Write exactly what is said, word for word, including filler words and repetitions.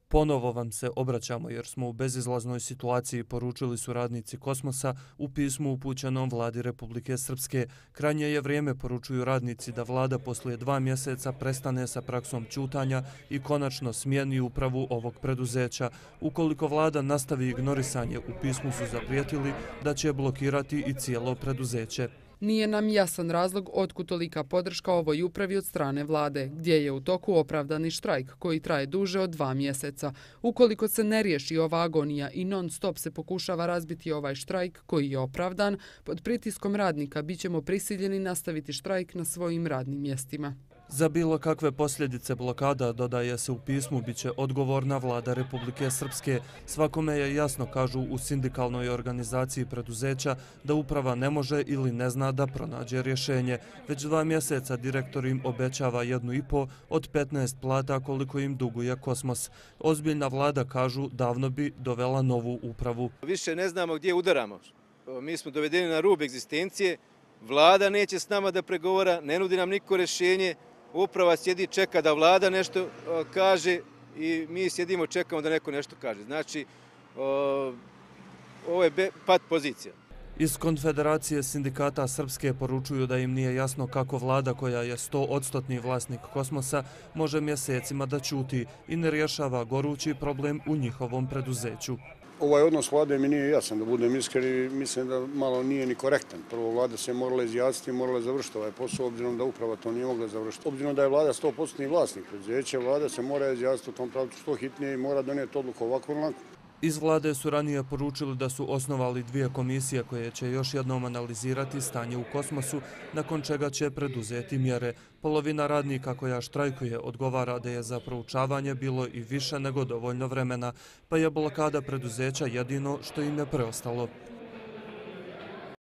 Ponovo vam se obraćamo jer smo u bezizlaznoj situaciji, poručili su radnici Kosmosa u pismu upućenom vladi Republike Srpske. Krajnje je vrijeme, poručuju radnici, da vlada poslije dva mjeseca prestane sa praksom ćutanja i konačno smijeni upravu ovog preduzeća. Ukoliko vlada nastavi ignorisanje, u pismu su zaprijetili da će blokirati i cijelo preduzeće. Nije nam jasan razlog otkud tolika podrška ovoj upravi od strane vlade, gdje je u toku opravdani štrajk koji traje duže od dva mjeseca. Ukoliko se ne riješi ova agonija i non stop se pokušava razbiti ovaj štrajk koji je opravdan, pod pritiskom radnika bit ćemo prisiljeni nastaviti štrajk na svojim radnim mjestima. Za bilo kakve posljedice blokada, dodaje se u pismu, bit će odgovorna vlada Republike Srpske. Svakome je jasno, kažu u sindikalnoj organizaciji preduzeća, da uprava ne može ili ne zna da pronađe rješenje. Već dva mjeseca direktor im obećava jednu i po od petnaest plata koliko im duguje Kosmos. Ozbiljna vlada, kažu, davno bi dovela novu upravu. Više ne znamo gdje udaramo. Mi smo dovedeni na rub egzistencije. Vlada neće s nama da pregovara, ne nudi nam niko rješenje. Uprava sjedi, čeka da vlada nešto kaže i mi sjedimo, čekamo da neko nešto kaže. Znači, ovo je pat pozicija. Iz Konfederacije sindikata Srpske poručuju da im nije jasno kako vlada, koja je sto odstotni vlasnik Kosmosa, može mjesecima da ćuti i ne rješava gorući problem u njihovom preduzeću. Ovaj odnos vlade mi nije jasan, da budem iskren, i mislim da malo nije ni korektan. Prvo, vlada se morala izjasniti i morala završiti ovaj posao, obzirom da uprava to nije mogla završiti. Obzirom da je vlada sto odstotni vlasnik preduzeća, vlada se mora izjasniti u tom pravcu što hitnije i mora donijeti odluku ovako ili onako. Iz vlade su ranije poručili da su osnovali dvije komisije koje će još jednom analizirati stanje u Kosmosu, nakon čega će preduzeti mjere. Polovina radnika koja štrajkuje odgovara da je za proučavanje bilo i više nego dovoljno vremena, pa je blokada preduzeća jedino što im je preostalo.